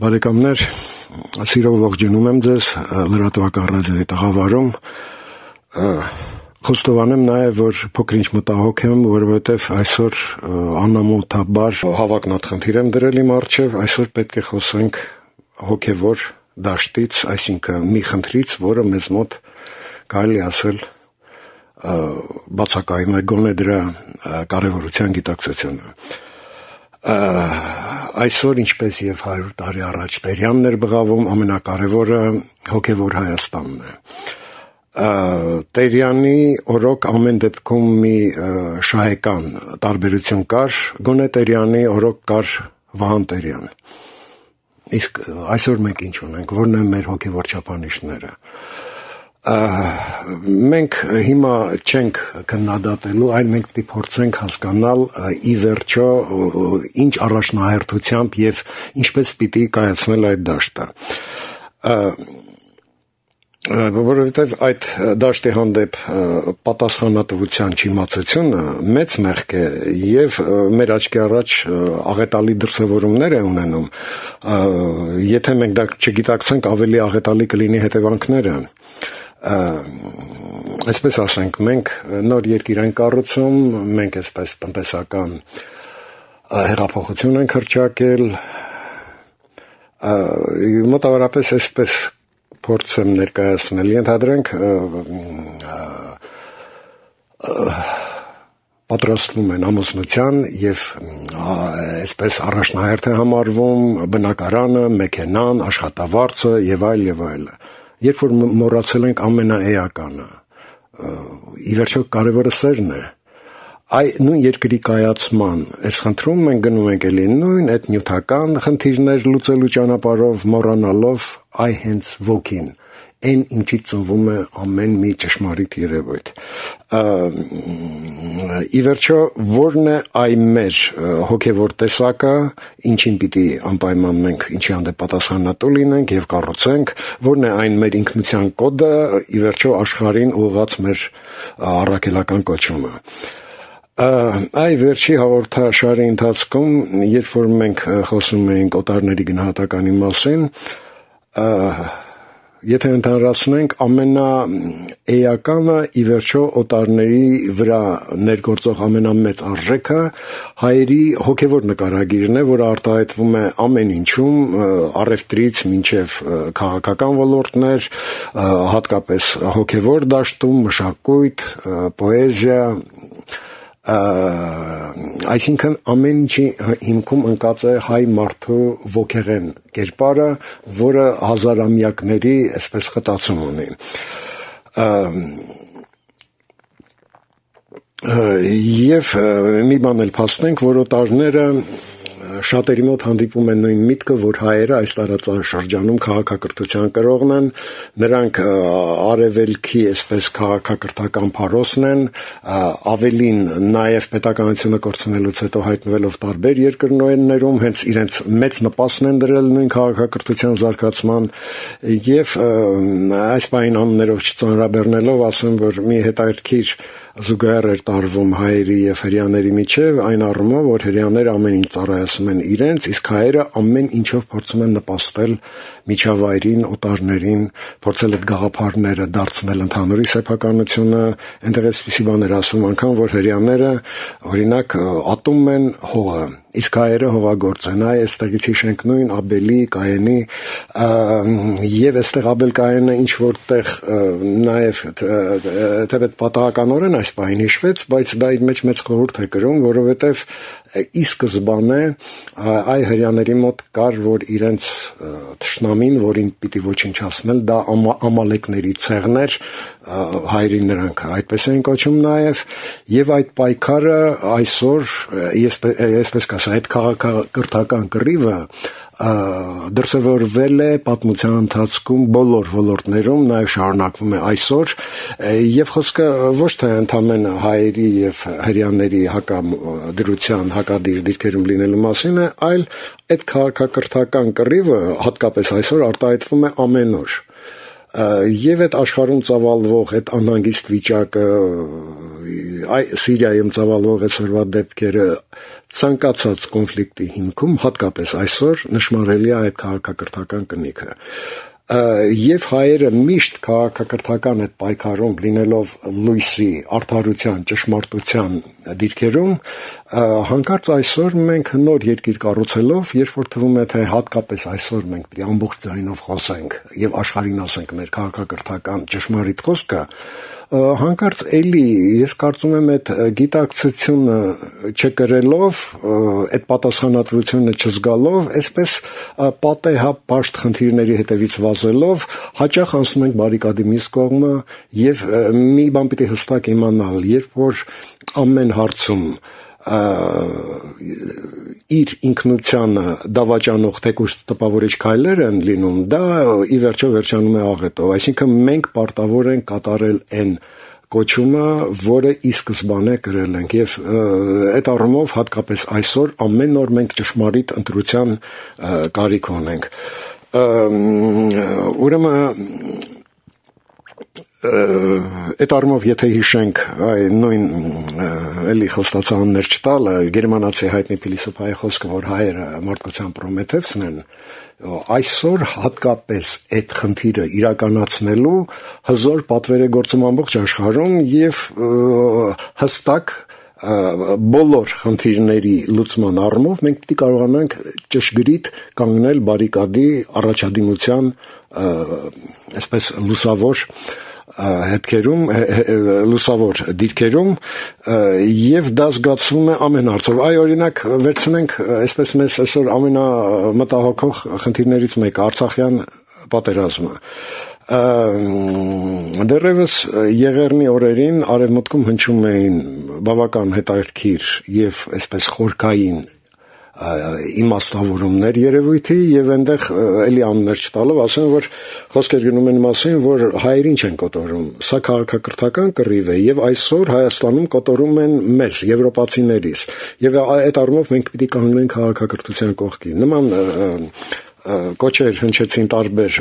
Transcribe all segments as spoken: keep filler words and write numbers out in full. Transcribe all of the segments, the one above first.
Բարեկամներ, սիրով ողջունում եմ ձեզ լրատվական ռադիոյի տաղավարում, խոստովանեմ նաև, որ փոքր-ինչ մտահոգ եմ, որովհետև այսօր անամոթաբար հավակնոտ եմ դրել իմ առջև, այսօր պետք է խոսենք հոգևոր դաշտից, այսինքն մի խնդրից, որը մեզ մոտ կարելի ասել բացակայում է գոնե դրա կարևորության գիտակցությունը։ Այսօր, ինչպես և հարյուր տարի առաջ Տերյանն էր բղավում, ամենակարևորը հոգևոր Հայաստանն է։ Տերյանի օրոք ամեն դեպքում մի շահեկան տարբերություն կար, գոնե Տերյանի օրոք կար Վահան Տերյան։ Իսկ այսօր մենք ինչ ունենք, որն են մեր հոգևոր չափանիշները։ Մենք հիմա չենք քննադատելու, այլ մենք պիտի փորձենք հասկանալ ի վերջո ինչ առաջնահերթությամբ եւ ինչպես պիտի կայացնել այդ դաշտը։ Որովհետև այդ դաշտի հանդեպ պատասխանատվության չիմացությունը մեծ մեղք է եւ մեր աչքի առաջ աղետալի դրսևորումներ է ունենում։ Եթե մենք դա չգիտակցենք, ավելի աղետալի կլինի հետևանքները։ Այսպես ասենք, մենք նոր երկիր ենք կառուցում, մենք այսպես տնտեսական հեղափոխություն ենք հռչակել, մոտավորապես այսպես փորձեմ ներկայացնել, ենթադրենք պատրաստվում են ամուսնության եւ այսպես առաջնահերթ է համարվում բնակարանը, մեքենան, աշխատավարձը եւ այլ եւ այլ։ Երբ որ մոռացել ենք ամենաէականը, ի վերջո կարևորը սերն է, այ նույն երկրի կայացման այս խնդրում մենք գնում ենք էլի նույն այդ նյութական խնդիրներ լուծելու ճանապարհով, մոռանալով այ հենց ոգին, այն ինչից ծնվում է ամեն մի ճշմարիտ երևույթ։ Ի վերջո, որն է այ մեր հոգևոր տեսակը, ինչին պիտի անպայման մենք ինչի հանդեպ պատասխանատու լինենք եւ կառուցենք, որն է այն մեր ինքնության կոդը, ի վերջո աշխարհին ուղղված մեր առաքելական կոչումը։ Այ վերջի հաղորդաշարի ընթացքում, երբ որ մենք խոսում էինք օտարների գնահատականի մասին, եթե ընդհանրացնենք, ամենաէականը ի վերջո օտարների վրա ներգործող ամենամեծ արժեքը հայերի հոգևոր նկարագիրն է, որը արտահայտվում է ամեն ինչում, առևտրից մինչև քաղաքական ոլորտներ, հատկապես հոգևոր դաշտում, մշակույթ, պոեզիա, այսինքն ամեն ինչի հիմքում ընկած է հայ մարդու ոգեղեն կերպարը, որը հազարամյակների այսպես խտացում ունի։ Եվ մի բան էլ փաստենք, որ օտարները շատերի մոտ հանդիպում են նույն միտքը, որ հայերը այս տարածաշրջանում քաղաքակրթության կրողն են, նրանք արևելքի այսպես քաղաքակրթական փարոսն են, ավելին նաև պետականությունը կորցնելուց հետո հայտնվելով տարբեր երկրներում, հենց իրենց մեծ նպաստն են դրել նույն քաղաքակրթության զարգացման եւ այս պահին անուններով չծանրաբեռնելով ասեմ, որ մի հետաքրքիր զուգահեռ էր տարվում հայերի եւ հրեաների միջև, այն առումով, որ հրեաները ամեն ինչ ծառայացնում են իրենց, իսկ հայերը ամեն ինչով փորձում են նպաստել միջավայրին, օտարներին, փորձել այդ գաղափարները դարձնել ընդհանուրի սեփականությունը, այնտեղ էսպիսի բաներ ասում անգամ, որ հրեաները օրինակ ատում են հողը, իսկ հայերը հողագործ են, այ այստեղից հիշենք նույն Աբելի, Կայենի եւ այստեղ Աբել Կայենը ինչ որտեղ նաեւ թեպետ պատահականորեն այս պահին հիշվեց, բայց դա իր մեջ մեծ խորհուրդ է կրում, որովհետեւ ի սկզբանե այ հրեաների մոտ կար, որ իրենց թշնամին, որին պիտի ոչնչացնել, դա ամալեկների ցեղն էր, հայերին նրանք այդպես են կոչում նաեւ, եւ այդ պայքարը այսօր այսպես կաս այդ քաղաքակրթական կռիվը դրսևորվել է պատմության ընթացքում բոլոր ոլորտներում, նաև շարունակվում է այսօր, եւ խոսքը ոչ թե ընդամենը հայերի եւ հրեաների հակադրության, հակադիր դիրքերում լինելու մասին է, այլ այդ քաղաքակրթական կռիվը հատկապես այսօր արտահայտվում է ամենուր։ Եվ այդ աշխարհում ծավալվող այդ անհանգիստ վիճակը Սիրիայում ծավալվող այսօրվա դեպքերը ցանկացած կոնֆլիկտի հիմքում, հատկապես այսօր, նշмарելի է այդ քաղաքակրթական կնիքը։ Եվ հայերը միշտ քաղաքակրթական այդ պայքարում լինելով լույսի, արդարության, ճշմարտության դիրքերում, հանկարծ այսօր մենք նոր երկիր կառուցելով, երբ որ թվում է թե հատկապես այսօր մենք պետք է ամբողջ ձայնով խոսենք եւ աշխարհին ասենք մեր քաղաքակրթական ճշմարիտ խոսքը, հանկարծ էլի ես կարծում եմ այդ գիտակցությունը չկրելով, այդ պատասխանատվությունը չզգալով, այսպես պատեհապ պաշտ խնդիրների հետևից վազելով, հաճախ անցնում ենք բարիկադի մյուս կողմը եւ մի բան պիտի հստակ իմանալ, երբ որ ամեն հարցում իր ինքնությանը դավաճանող թեկուզ տպավորիչ քայլեր են լինում, դա ի վերջո վերջանում է աղետով, այսինքն մենք պարտավոր ենք կատարել այն կոչումը, որը ի սկզբանե կրել ենք եւ այդ առումով հատկապես այսօր ամեն օր մենք ճշմարիտ ընտրության կարիք ունենք։ Ուրեմն այդ առումով եթե հիշենք այ նույն էլի խոստացաններ չտալը գերմանացի հայտնի փիլիսոփայի խոսքը, որ հայերը մարդկության Պրոմեթևսն են, այսօր հատկապես այդ խնդիրը իրականացնելու հզոր պատվեր է գործում ամբողջ աշխարհում եւ հստակ բոլոր խնդիրների լուծման առումով մենք պետք է կարողանանք ճշգրիտ կանգնել բարիկադի առաջադիմության այսպես լուսավոր հետքերում, լուսավոր դիրքերում եւ դա զգացվում է ամեն հարցով։ Այ օրինակ վերցնենք այսպես մեզ այսօր ամենամտահոգող խնդիրներից մեկը Արցախյան պատերազմը։ Դեռևս Եղեռնի օրերին արևմուտքում հնչում էին բավական հետաքրքիր եւ այսպես խորքային իմաստավորումներ երևույթի եւ այնտեղ էլի անուններ չտալով ասեմ, որ խոսքեր գնում են մասին, որ հայերին չեն կոտորում, սա քաղաքակրթական կռիվ է եւ այսօր Հայաստանում կոտորում են մեզ, եվրոպացիներիս, եւ այդ առումով մենք պիտի կանգնենք քաղաքակրթության կողքին։ Նման կոչեր հնչեցին տարբեր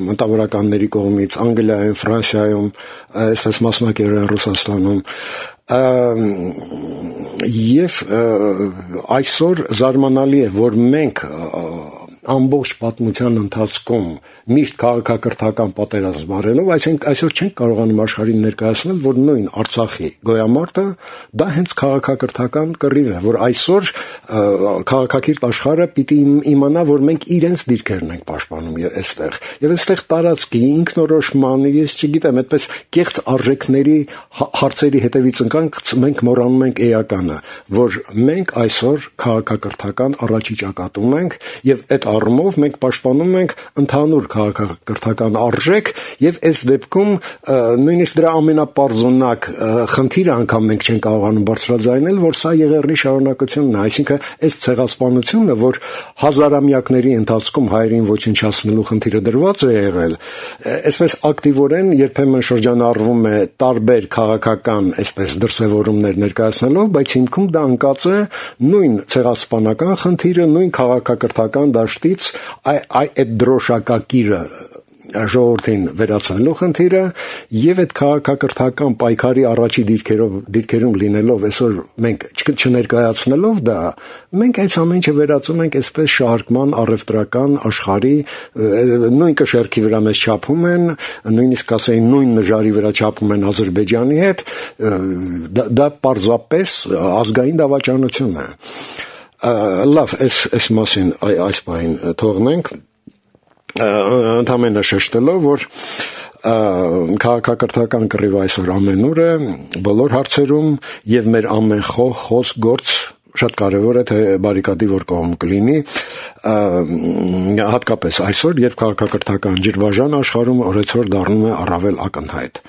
մտավորականների կողմից Անգլիայում, Ֆրանսիայում, այսպես մասնակերեն Ռուսաստանում, եւ այսօր զարմանալի է, որ մենք ամբողջ պատմության ընթացքում միշտ քաղաքակրթական պատերազմ վարելով, այսինքն այսօր չենք կարողանում աշխարհին ներկայացնել, որ նույն Արցախի գոյամարտը դա հենց քաղաքակրթական կռիվ է, որ այսօր քաղաքակիրթ աշխարհը պիտի իմանա, որ մենք իրենց դիրքերն ենք պաշտպանում այստեղ։ Եվ այստեղ տարածքի ինքնորոշման, ես չգիտեմ, այդպես կեղծ արժեքների հարցերի հետևից ընկանք, մենք մոռանում ենք էականը, որ մենք այսօր քաղաքակրթական առաջի ճակատում ենք եւ այդ առումով մենք պաշտպանում ենք ընդհանուր քաղաքակրթական արժեք եւ այս դեպքում նույնիսկ դրա ամենապարզունակ խնդիրը անգամ մենք չենք կարողանում բարձրաձայնել, որ սա Եղեռնի շարունակությունն է, այսինքն այս ցեղասպանությունը, որ հազարամյակների ընթացքում հայերին ոչնչացնելու խնդիրը դրված է եղել, այսպես ակտիվորեն երբեմն շրջանառվում է տարբեր քաղաքական այսպես դրսևորումներ ներկայացնելով, բայց հիմքում դա ընկած է նույն ցեղասպանական խնդիրը, նույն քաղաքակրթական դաշտից այդ դրոշակակիրը ժողովրդին վերացնելու խնդիրը եւ այդ քաղաքակրթական պայքարի առաջի դիրքերով դիրքերում լինելով այսօր մենք չներկայացնելով դա, մենք այս ամեն ինչը վերածում ենք այսպես շահարկման առևտրական աշխարհի նույն կշեռքի վրա մեզ չափում են, նույնիսկ ասեին նույն նժարի վրա չափում են Ադրբեջանի հետ, դա, դա պարզապես ազգային դավաճանություն է։ Լավ, այս այս մասին այս բանին թողնենք, ընդհանրապես շեշտելով, որ քաղաքակրթական կռիվը այսօր ամենուր է, բոլոր հարցերում եւ մեր ամեն խոհ, խոսք, գործ շատ կարևոր է թե բարիկադի որ կողմ կլինի, հատկապես այսօր, երբ քաղաքակրթական ջրբաժան աշխարհում օրեցօր դառնում է առավել ակնհայտ։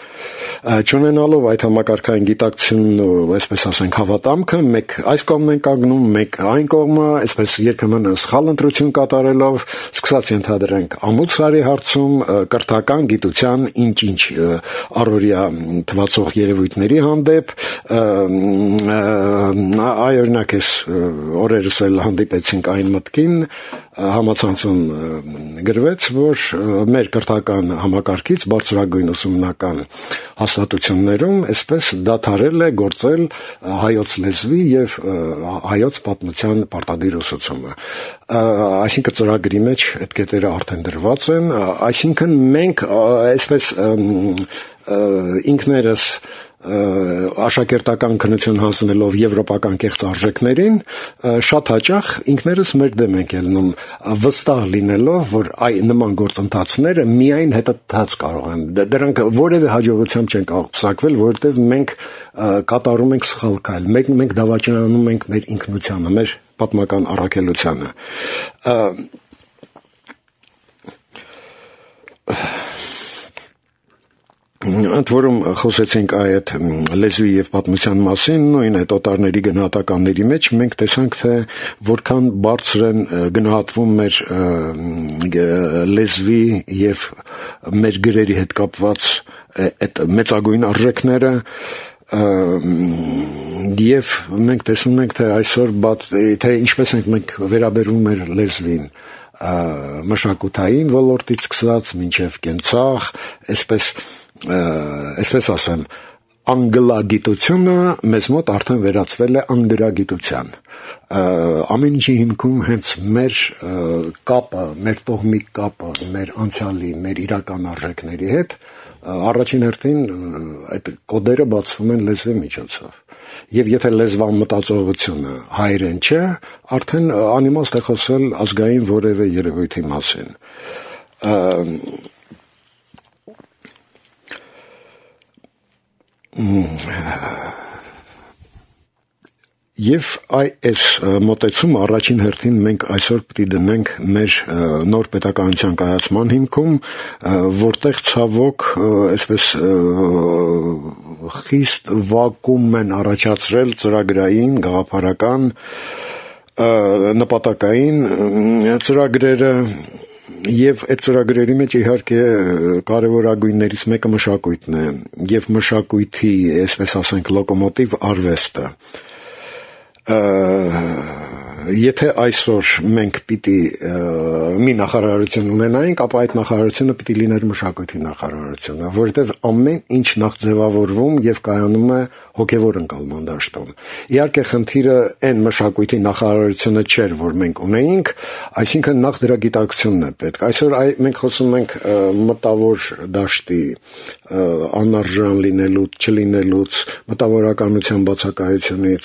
Չունենալով այդ համակարգային գիտակցությունն ու այսպես ասենք հավատամքը, մեկ այս կողմն են կանգնում, մեկ այն կողմը, այսպես երբեմն սխալ ընտրություն կատարելով, սկսած ենթադրենք ամուսարի հարցում կրթական գիտության ինչ-ինչ առօրյա թվացող երևույթների հանդեպ, այ օրինակ էս օրերս էլ հանդիպեցինք այն մտքին, համացանցում գրվեց, որ մեր կրթական համակարգից բարձրագույն ուսումնական հաստատություններում այսպես դադարել է գործել հայոց լեզվի եւ հայոց պատմության պարտադիր ուսուցումը, այսինքն ծրագրի մեջ այդ կետերը արդեն դրված են, այսինքն մենք այսպես ինքներս աշակերտական քննություն հանձնելով եվրոպական կեղծ արժեքներին, շատ հաճախ ինքներս մեր դեմ ենք ելնում, վստահ լինելով, որ այ նման գործընթացները միայն հետադարձ կարող են, դրանք որևէ հաջողությամբ չեն կարող պսակվել, որովհետև մենք կատարում ենք սխալ քայլ, մենք մենք դավաճանում ենք մեր ինքնությանը, մեր պատմական առաքելությանը։ Ընդ որում խոսեցինք այդ լեզվի եւ պատմության մասին, նույն այդ օտարների գնահատականների մեջ մենք տեսանք, թե որքան բարձր են գնահատվում մեր լեզվի եւ մեր գրերի հետ կապված այդ մեծագույն արժեքները, եւ մենք տեսնում ենք, թե այսօր թե ինչպես ենք մենք վերաբերվում մեր լեզվին, մշակութային ոլորտից սկսած մինչև կենցաղ, այսպես այսպես ասեմ, անգլագիտությունը մեզ մոտ արդեն վերածվել է անգրագիտության, ամեն ինչի հիմքում հենց մեր կապը, մեր տոհմիկ կապը, մեր անցյալի, մեր իրական արժեքների հետ, առաջին հերթին այդ կոդերը բացվում են լեզվի միջոցով, եւ եթե լեզվան մտածողությունը հայերեն չէ, արդեն անիմաստ է խոսել ազգային որևէ երևույթի մասին։ Եվ այս մոտեցումը առաջին հերթին մենք այսօր պետք է դնենք մեր նոր պետականության կայացման հիմքում, որտեղ ցավոք այսպես խիստ վակուում են առաջացրել ծրագրային, գաղափարական, նպատակային ծրագրերը, եւ այդ ծրագրերի մեջ իհարկե կարևորագույններից մեկը մշակույթն է եւ մշակույթի, այսպես ասենք, լոկոմոտիվ արվեստը։ Եթե այսօր մենք պիտի մի նախարարություն ունենայինք, ապա այդ նախարարությունը պիտի լիներ մշակույթի նախարարությունը, որովհետև ամեն ինչ նախ ձևավորվում եւ կայանում է հոգեվոր ընկալման դաշտում։ Իհարկե խնդիրը այն մշակույթի նախարարությունը չէր, որ մենք ունեինք, այսինքն նախ դրա գիտակցությունն է պետք։ Այսօր մենք խոսում ենք մտավոր դաշտի անարժան լինելուց, չլինելուց, մտավորականության բացակայությունից,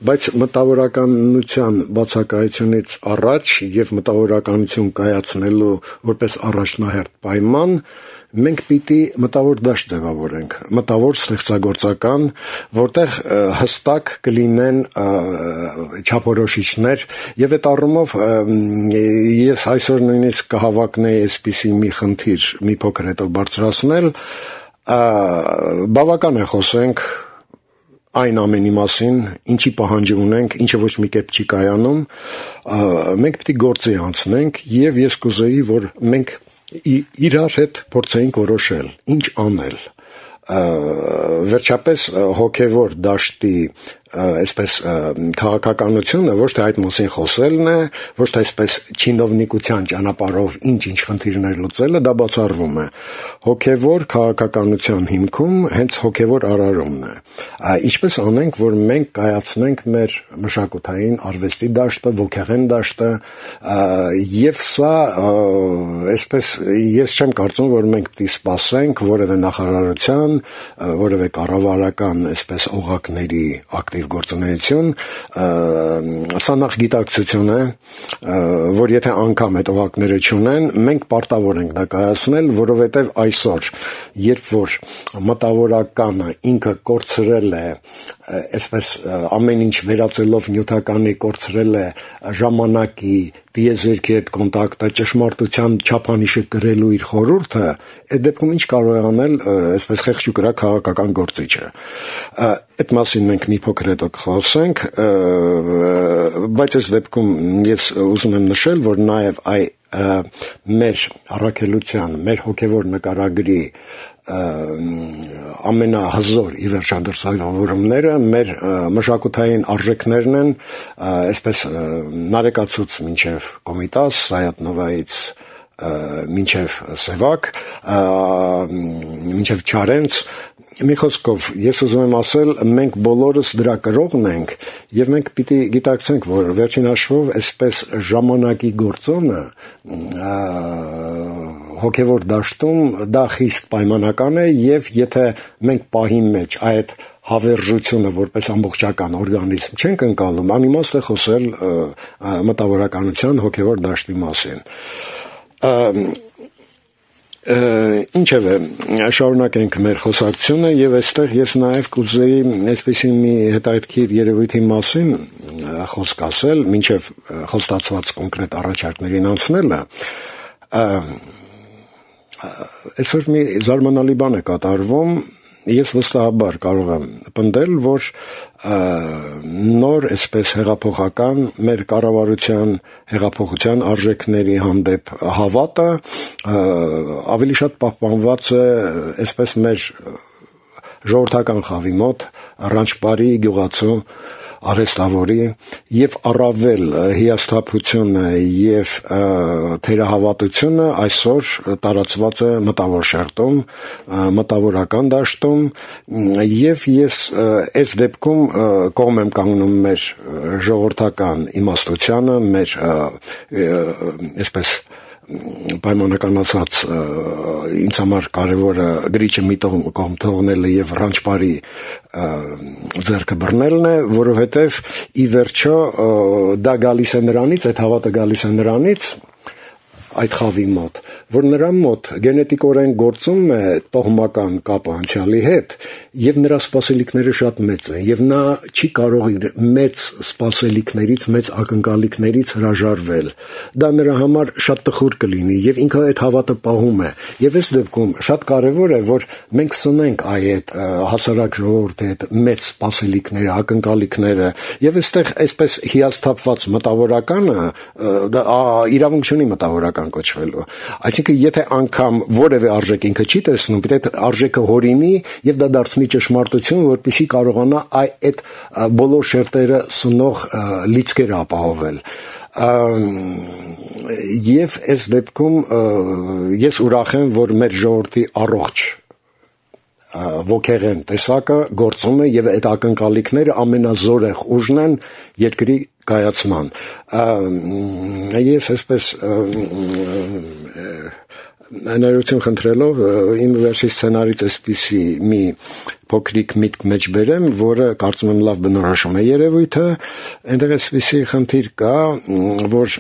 բայց մտավորականության բացակայությունից առաջ եւ մտավորականություն կայացնելու որպես առաջնահերթ պայման մենք պիտի մտավոր դաշտ ձևավորենք, մտավոր ստեղծագործական, որտեղ հստակ կլինեն չափորոշիչներ եւ այդ առումով ես այսօր նույնիսկ կհավակնեի այսպիսի մի խնդիր մի փոքր հետո բարձրացնել, բավական է խոսենք այն ամենի մասին, ինչի պահանջ ունենք, ինչը ոչ մի կերպ չի կայանում, մենք պետք է գործի անցնենք եւ ես կուզեի, որ մենք իրար հետ փորձեինք որոշել, ինչ անել։ Վերջապես հոգևոր դաշտի այսպես քաղաքականությունը ոչ թե այդ մասին խոսելն է, ոչ թե այսպես չինովնիկության ճանապարհով ինչ-ինչ խնդիրներ լուծելը, դա բացառվում է։ Հոգևոր քաղաքականության հիմքում հենց հոգևոր արարումն է։ Ինչպես անենք, որ մենք կայացնենք մեր մշակութային արվեստի դաշտը, ոգեղեն դաշտը, եւ սա այսպես ես չեմ կարծում, որ մենք պետք է սպասենք որևէ նախարարության, որևէ կառավարական այսպես օղակների ակտիվ գործունեություն, սա նախ գիտակցություն է, որ եթե անգամ այդ օղակները չունեն, մենք պարտավոր ենք դա կայացնել, որովհետև այսօր, երբ որ մտավորականը ինքը կորցրել է, այսպես ամեն ինչ վերածելով նյութականի կորցրել է ժամանակի, տիեզերքի հետ կոնտակտը, ճշմարտության չափանիշը կրելու իր խորհուրդը, այդ դեպքում ինչ կարող է անել այսպես խեղճ ու կրակ քաղաքական գործիչը։ Այդ մասին մենք մի փոքր հետո կխոսենք, բայց այս դեպքում ես ուզում եմ նշել, որ նաև այ մեր առաքելության, մեր հոգևոր նկարագրի ամենահզոր ի վերջադրսավորումները մեր մշակութային արժեքներն են, այսպես Նարեկացուց մինչև Կոմիտաս, Սայաթ-Նովայից մինչև Սևակ, մինչև Չարենց, մի խոսքով ես ուզում եմ ասել, մենք բոլորս դրա կրողն ենք եւ մենք պիտի գիտակցենք, որ վերջին հաշվով այսպես ժամանակի գործոնը հոգևոր դաշտում դա խիստ պայմանական է եւ եթե մենք պահի մեջ այդ հավերժությունը որպես ամբողջական օրգանիզմ չենք ընկալում, անիմաստ է խոսել մտավորականության հոգևոր դաշտի մասին։ Ինչևէ, շարունակենք մեր խոսակցությունը եւ այստեղ ես նաեւ կուզեի այսպեսի մի հետաքրքիր երևույթի մասին խոսք ասել, մինչեւ խոստացված կոնկրետ առաջարկներին անցնելը։ Այսօր մի զարմանալի բան է կատարվում, ես վստահաբար կարող եմ պնդել, որ նոր այսպես հեղափոխական մեր կառավարության հեղափոխության արժեքների հանդեպ հավատը ավելի շատ պահպանված է այսպես մեր ժողովրդական խավի մոտ, Ռանչպարի գյուղացու արհեստավորի եւ առավել հիասթափությունը եւ թերահավատությունը այսօր տարածված է մտավոր շերտում, մտավորական դաշտում եւ ես այս դեպքում կողմ եմ կանգնում մեր ժողովրդական իմաստությանը, մեր այսպես պայմանականացած ինձ համար կարևորը գրիչը մի կողմ թողնելը եւ Ռանչպարի ձեռքը բռնելն է, որովհետեւ ի վերջո դա գալիս է նրանից, այդ հավատը գալիս է նրանից, այդ խավի մոտ, որ նրա մոտ գենետիկորեն գործում է տոհմական կապը անցյալի հետ եւ նրա սպասելիքները շատ մեծ են եւ նա չի կարող իր մեծ սպասելիքներից, մեծ ակնկալիքներից հրաժարվել։ Դա նրա համար շատ տխուր կլինի եւ ինքը այդ հավատը պահում է։ Եվ այս դեպքում շատ կարեւոր է, որ մենք սնենք այդ հասարակ ժողովրդի հետ մեծ սպասելիքները, ակնկալիքները եւ այստեղ այսպես հիասթափված մտավորականը դա իրավունք չունի մտավորական կոչվելու։ Այսինքն եթե անգամ որևէ արժեք ինքը չի տեսնում, պետք է արժեքը հորինի եւ դա դարձնի ճշմարտություն, որպեսզի կարողանա այդ բոլոր շերտերը սնող լիցքերը ապահովել։ Եվ այս դեպքում ես ուրախ եմ, որ մեր ժողովրդի առողջ ոգեղեն տեսակը գործում է եւ այդ ակնկալիքները ամենազորեղ ուժն են երկրի կայացման։ Ես այսպես ներողություն խնդրելով իմ վերջի սցենարից այսպիսի մի փոքրիկ միտք մեջ բերեմ, որը կարծում եմ լավ բնորոշում է երևույթը, այնտեղ այսպիսի խնդիր կա, որ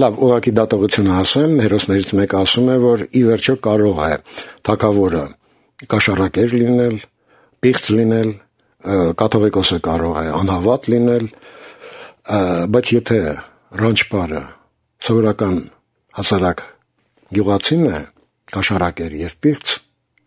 լավ ուղղակի դատողություն ասեմ, հերոսներից մեկը ասում է, որ ի վերջո կարող է թագավորը կաշառակեր լինել, պիղծ լինել, կաթողիկոսը կարող է անհավատ լինել, բայց եթե Ռանչպարը սովորական հասարակ գյուղացին է, կաշառակեր եւ պիղծ,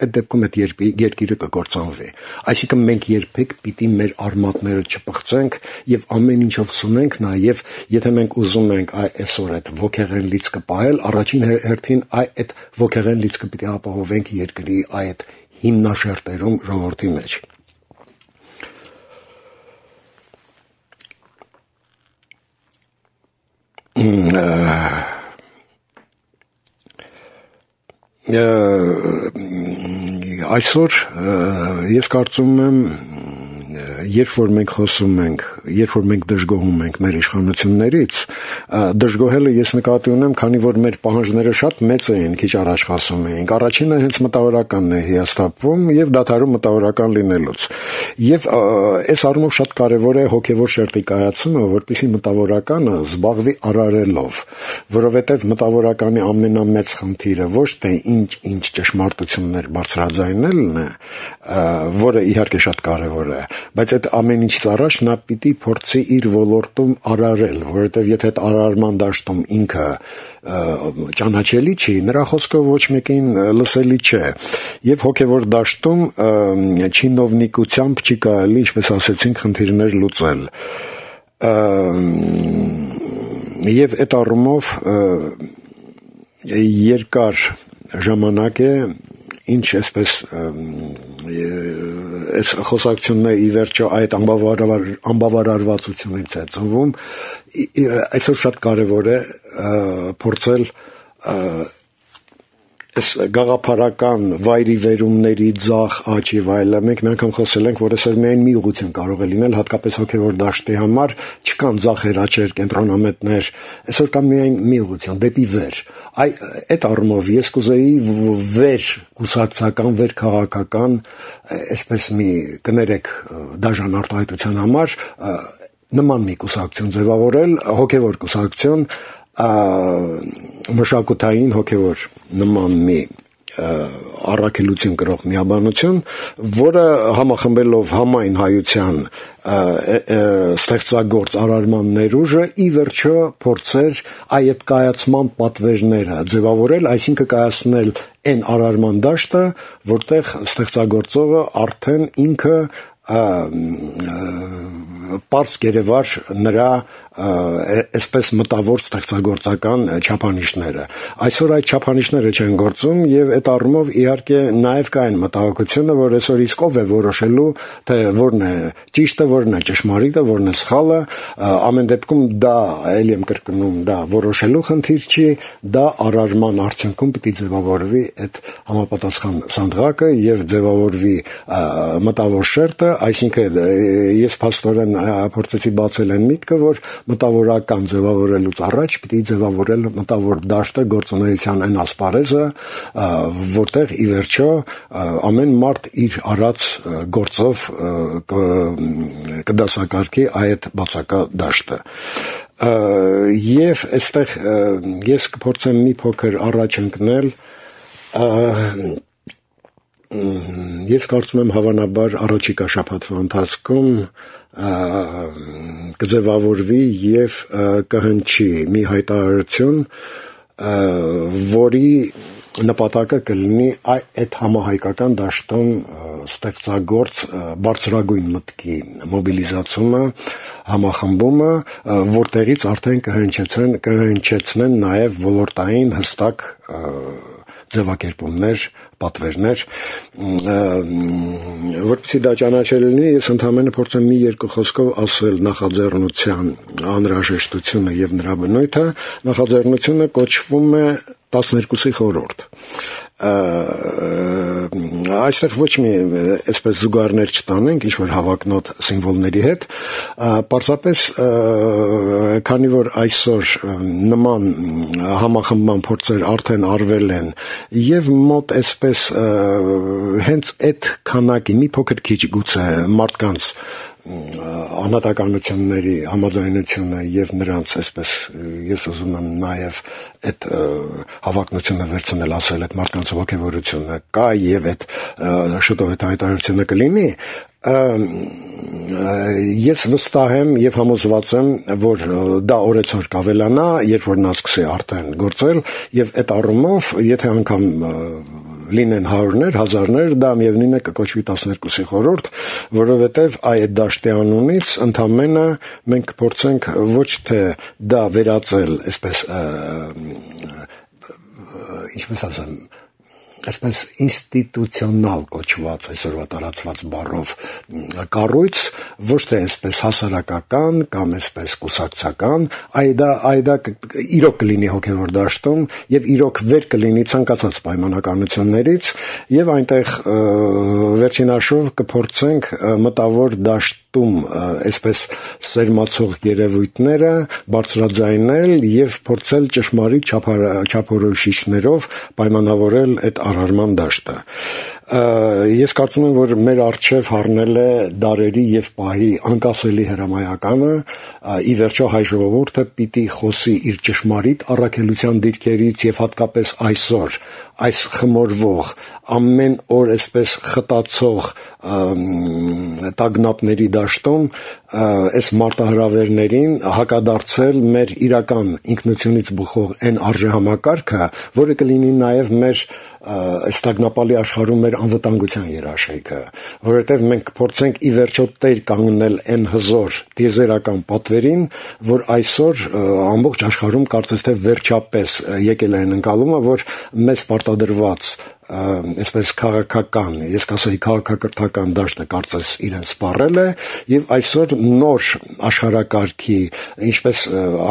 այդ դեպքում այդ երկիրը կկործանվի։ Այսինքն մենք երբեք պիտի մեր արմատները չփխցենք եւ ամեն ինչով սունենք նաեւ, եթե մենք ուզում ենք այսօր այդ ոգեղեն լիցքը պահել, առաջին հերթին այդ ոգեղեն լիցքը պիտի ապահովենք երկրի այդ հիմնաշերտերում ժողովրդի մեջ։ Այսօր ես կարծում եմ, երբ որ մենք խոսում ենք, երբ որ մենք դժգոհում ենք մեր իշխանություններից, դժգոհելը ես նկատի ունեմ, քանի որ մեր պահանջները շատ մեծ էին, քիչ առաջ խոսում էինք։ Առաջինը հենց մտավորականն է հիասթափվում եւ դադարում մտավորական լինելուց։ Եվ այս առումով շատ կարեւոր է հոգեվոր շերտի կայացումը, որպեսզի մտավորականը զբաղվի արարելով, որովհետեւ մտավորականի ամենամեծ խնդիրը ոչ թե ինչ-ինչ ճշմարտություններ բարձրաձայնելն է, որը իհարկե շատ կարեւոր է, բայց այդ ամեն ինչից առաջ նա պիտի փորձի իր ոլորտում արարել, որովհետև եթե այդ արարման դաշտում ինքը ճանաչելի չի, նրա խոսքը ոչ մեկին լսելի չէ, եւ հոգեվոր դաշտում չինովնիկությամբ չի կարելի, ինչպես ասեցինք, խնդիրներ լուծել։ եւ այդ առումով երկար ժամանակ է ինչ այսպես այս խոսակցությունն ի վերջո այդ անբավարարվածությունից է ծնվում այսօր շատ կարևոր է փորձել այս գաղափարական վայրի վերումների ձախ աճ եւ այլն մենք մի անգամ խոսել ենք որ այսօր միայն մի ուղղություն կարող է լինել հատկապես հոգեվոր դաշտի համար չկան ձախեր աճեր կենտրոնամետներ այսօր կա միայն մի ուղղություն դեպի վեր այ այդ առումով ես կուզեի վեր կուսակցական վեր քաղաքական այսպես մի կներեք դաժան արտահայտության համար նման մի կուսակցություն ձևավորել հոգեվոր կուսակցություն մշակութային հոգևոր նման մի առաքելություն կրող միաբանություն, որը համախմբելով համայն հայության ստեղծագործ արարման ներուժը ի վերջո փորձեր այդ կայացման պատվերները ձևավորել, այսինքն կայացնել այն արարման դաշտը, որտեղ ստեղծագործողը արդեն ինքը պարզ կերևար նրա այսպես մտավոր ստեղծագործական չափանիշները։ Այսօր այդ չափանիշները չեն գործում եւ այդ առումով իհարկե նաեւ կա այն մտահոգությունը, որ այսօր իսկ ով է որոշելու, թե որն է ճիշտը, որն է ճշմարիտը, որն է սխալը, ամեն դեպքում դա ելի եմ կրկնում, դա որոշելու խնդիր չի, դա արարման արդյունքում պիտի ձևավորվի այդ համապատասխան սանդղակը եւ ձևավորվի մտավոր շերտը, այսինքն ես փաստորեն փորձեցի բացել այն միտքը, որ մտավորական ձևավորելուց առաջ պիտի ձևավորել մտավոր դաշտը գործունեության այն ասպարեզը, որտեղ ի վերջո ամեն մարդ իր արած գործով կդասակարգի այդ բացակա դաշտը։ Եվ այստեղ ես կփորձեմ մի փոքր առաջ ընկնել Ես կարծում եմ հավանաբար առաջիկա շաբաթվա ընթացքում կձևավորվի եւ կհնչի մի հայտարարություն, որի նպատակը կլինի այդ համահայկական դաշտում ստեղծագործ բարձրագույն մտքի մոբիլիզացումը, համախմբումը, որտեղից արդեն կհնչեցնեն, կհնչեցնեն նաեւ ոլորտային հստակ ձևակերպումներ, պատվերներ, որպեսզի դա ճանաչել լինի, ես ընդհանրապես փորձեմ մի երկու խոսքով ասել նախաձեռնության անհրաժեշտությունը եւ նրա բնույթը, նախաձեռնությունը կոչվում է տասներկուսի խորհուրդ։ Այստեղ ոչ մի այսպես զուգարներ չտանենք, ինչ որ հավակնոտ սիմվոլների հետ, պարզապես քանի որ այսօր նման համախմբման փորձեր արդեն արվել են եւ մոտ այսպես հենց այդ քանակի մի փոքր քիչ գուցե մարդկանց անհատականությունների համաձայնությունը եւ նրանց այսպես ես ուզում եմ նաեւ այդ հավակնությունը վերցնել ասել այդ մարդկանց ողջավորությունը կա եւ այդ շուտով այդ հայտարարությունը կլինի ես վստահ եմ եւ համոզված եմ, որ դա օրեցօր կավելանա, երբ որ նա սկսի արդեն գործել եւ այդ առումով, եթե անգամ լինեն հարյուրներ, հազարներ, դա միևնույն է կկոչվի տասներկուսի խորհուրդ, որովհետեւ այդ դաշտի անունից ընդամենը մենք կփորձենք ոչ թե դա վերածել, այսպես ինչպես ասեմ այսպես ինստիտուցիոնալ կոչված այսօրվա տարածված բառով կառույց, ոչ թե այսպես հասարակական կամ այսպես կուսակցական, այլ դա իրոք կլինի հոգևոր դաշտում եւ իրոք վեր կլինի ցանկացած պայմանականություններից եւ այնտեղ վերջին հաշվով կփորձենք մտավոր դաշտում այսպես սերմացող երևույթները բարձրաձայնել եւ փորձել ճշմարիտ չափորոշիչներով պայմանավորել այդ արարման դաշտը։ Ես կարծում եմ, որ մեր առջև հառնել է դարերի եւ պահի անկասելի հրամայականը, ի վերջո հայ ժողովուրդը պիտի խոսի իր ճշմարիտ առաքելության դիրքերից եւ հատկապես այսօր այս խմորվող ամեն օր այսպես խտացող տագնապների դաշտում այս մարտահրավերներին հակադարձել մեր իրական ինքնությունից բխող այն արժեհամակարգը, որը կլինի նաեւ մեր այս տագնապալի աշխարհում մեր անվտանգության երաշխիքը, որովհետև մենք փորձենք ի վերջո տեր կանգնել այն հզոր տիեզերական պատվերին, որ այսօր ամբողջ աշխարհում կարծես թե վերջապես եկել է այն ընկալումը, որ մեզ պարտադրված այսպես քաղաքական, ես կասեի քաղաքակրթական դաշտը կարծես իրեն սպառել է եւ այսօր նոր աշխարհակարգի, ինչպես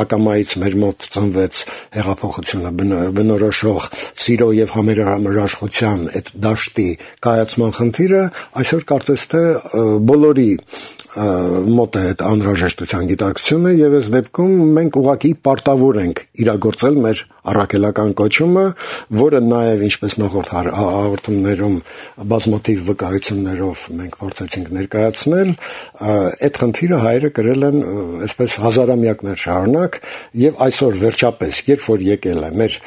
ակամայից մեր մոտ ծնվեց հեղափոխությունը բնորոշող սիրո եւ համերաշխության այդ դաշտի կայացման խնդիրը, այսօր կարծես թե բոլորի մոտ է այդ անհրաժեշտության գիտակցությունը եւ այս դեպքում մենք ուղղակի պարտավոր ենք իրագործել մեր առաքելական կոչումը, որը նաեւ ինչպես նախորդ հաղորդումներում բազմաթիվ վկայություններով մենք փորձեցինք ներկայացնել, այդ խնդիրը հայերը կրել են այսպես հազարամյակներ շարունակ եւ այսօր վերջապես, երբ որ եկել է մեր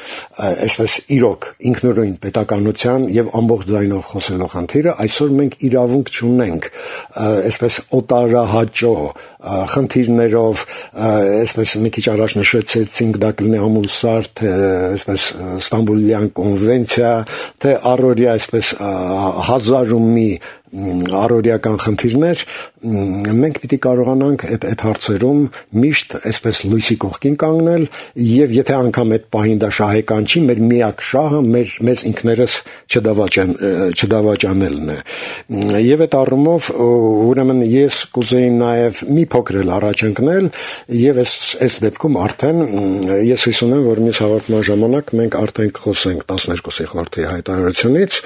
այսպես իրոք ինքնուրույն պետականության եւ ամբողջ ձայնով խոսելու խնդիրը, այսօր մենք իրավունք չունենք այսպես օտարահաճո խնդիրներով, այսպես մի քիչ առաջ նշեցինք դա կլինի ամուլսար, թե այսպես Ստամբուլյան կոնվենցիա, թե առօրյա այսպես հազար ու մի առօրյական խնդիրներ, մենք պիտի կարողանանք այդ այդ հարցերում միշտ այսպես լույսի կողքին կանգնել եւ եթե անգամ այդ պահին դա շահեկան չի, մեր միակ շահը մեր մեզ ինքներս չդավաճան չդավաճանելն է։ Եվ այդ առումով ուրեմն ես կուզեի նաեւ մի փոքր էլ առաջ ընկնել եւ այս այս դեպքում արդեն ես հույս ունեմ, որ մյուս հաղորդման ժամանակ մենք արդեն կխոսենք տասներկուսի խորհրդի հայտարարությունից,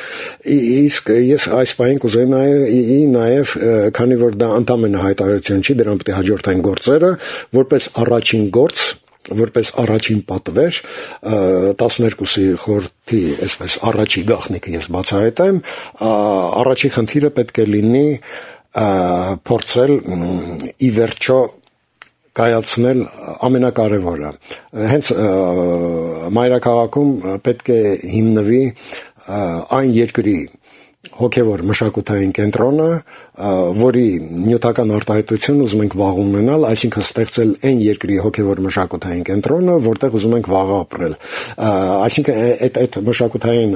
իսկ ես այս պահին կուզեի նաև քանի որ դա ընդամենը հայտարարություն չի, դրան պետք է հաջորդեն գործերը, որպես առաջին գործ, որպես առաջին պատվեր տասներկուսի խորհրդի այսպես առաջի գաղտնիքը ես բացահայտեմ, առաջի խնդիրը պետք է լինի փորձել ի վերջո կայացնել ամենակարևորը։ Հենց մայրաքաղաքում պետք է հիմնվի այն երկրի հոգևոր մշակութային կենտրոնը, որի նյութական արտահայտություն ուզում ենք վաղ ունենալ, այսինքն ստեղծել այն երկրի հոգևոր մշակութային կենտրոնը, որտեղ ուզում ենք վաղ ապրել։ Այսինքն այդ այդ մշակութային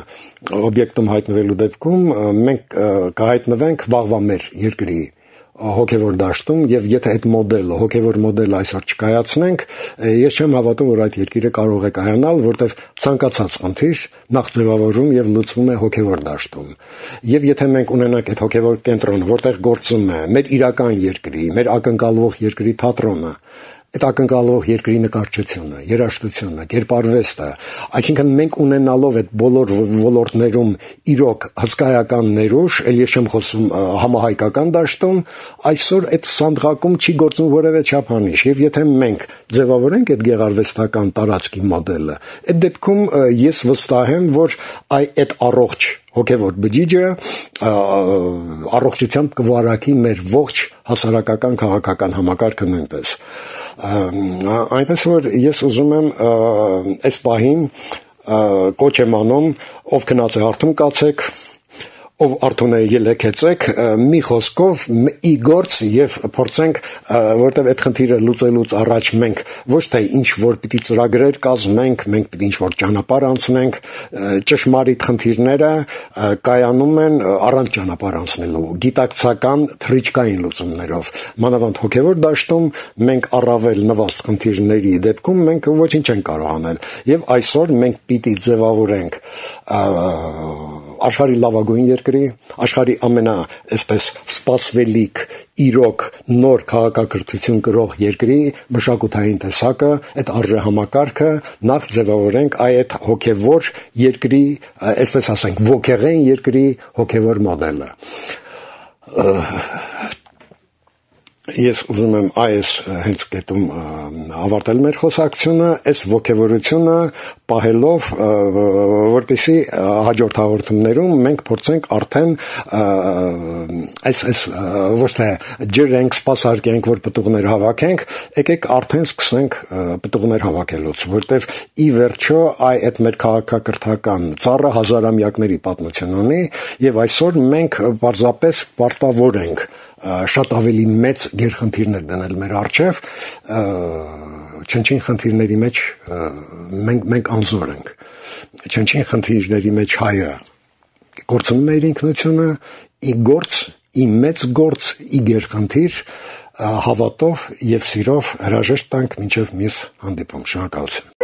օբյեկտում հայտնվելու դեպքում մենք կհայտնվենք վաղվա մեր երկրի հոգևոր դաշտում եւ եթե այդ մոդելը, հոգևոր մոդելը այսօր չկայացնենք, ես չեմ հավատում, որ այդ երկիրը կարող է կայանալ, որտեղ ցանկացած խնդիր նախ ձևավորում եւ լուծվում է հոգևոր դաշտում։ Եվ եթե մենք ունենանք այդ հոգևոր կենտրոնը, որտեղ գործում է մեր իրական երկրի, մեր ակնկալվող երկրի թատրոնը, այդ ակնկալվող երկրի նկարչությունը, երաժշտությունը, կերպարվեստը, այսինքն մենք ունենալով այդ բոլոր ոլորտներում իրոք հսկայական ներուժ, ել ես չեմ խոսում համահայկական դաշտում, այսօր այդ սանդղակում չի գործում որևէ չափանիշ, եւ եթե մենք ձևավորենք այդ գեղարվեստական տարածքի մոդելը, այդ դեպքում ես վստահ եմ, որ այդ առողջ հոգևոր բջիջը առողջությամբ կվարակի մեր ողջ հասարակական քաղաքական համակարգը նույնպես։ Այնպես որ ես ուզում եմ այս պահին կոչ եմ անում, ով քնած է հարթում կացեք, ով արթուն է ելեքեցեք, մի խոսքով ի գործ եւ փորձենք, որտեղ այդ խնդիրը լուծելուց առաջ մենք ոչ թե ինչ որ պիտի ծրագրեր կազմենք, մենք պիտի ինչ որ ճանապարհ անցնենք, ճշմարիտ խնդիրները կայանում են առանց ճանապարհ անցնելու, գիտակցական թռիչքային լուծումներով։ Մանավանդ հոգևոր դաշտում մենք առավել նվաստ խնդիրների դեպքում մենք ոչինչ չենք կարող անել եւ այսօր մենք պիտի ձևավորենք աշխարհի լավագույն երկրի, աշխարհի ամենա այսպես սպասվելիք իրոք նոր քաղաքակրթություն կրող երկրի մշակութային տեսակը, այդ արժեհամակարգը նախ ձևավորենք այդ հոգևոր երկրի, այսպես ասենք, ոգեղեն երկրի հոգևոր մոդելը։ Ես ուզում եմ այս հենց կետում ավարտել մեր խոսակցությունը, այս ոգևորությունը պահելով, որպեսզի հաջորդ հաղորդումներում մենք փորձենք արդեն այս այս ոչ թե ջրենք, սպասարկենք, որ պտուղներ հավաքենք, եկեք արդեն սկսենք պտուղներ հավաքելուց, որտեվ ի վերջո այդ մեր քաղաքակրթական ծառը հազարամյակների պատմություն ունի եւ այսօր մենք պարզապես պարտավոր ենք շատ ավելի մեծ գերխնդիրներ դնել մեր առջև, չնչին խնդիրների մեջ մենք մենք անզոր ենք, չնչին խնդիրների մեջ հայը կորցնում է իր ինքնությունը, ի գործ, ի մեծ գործ, ի գերխնդիր, հավատով եւ սիրով հրաժեշտ տանք մինչեւ մյուս հանդիպում։ Շնորհակալություն։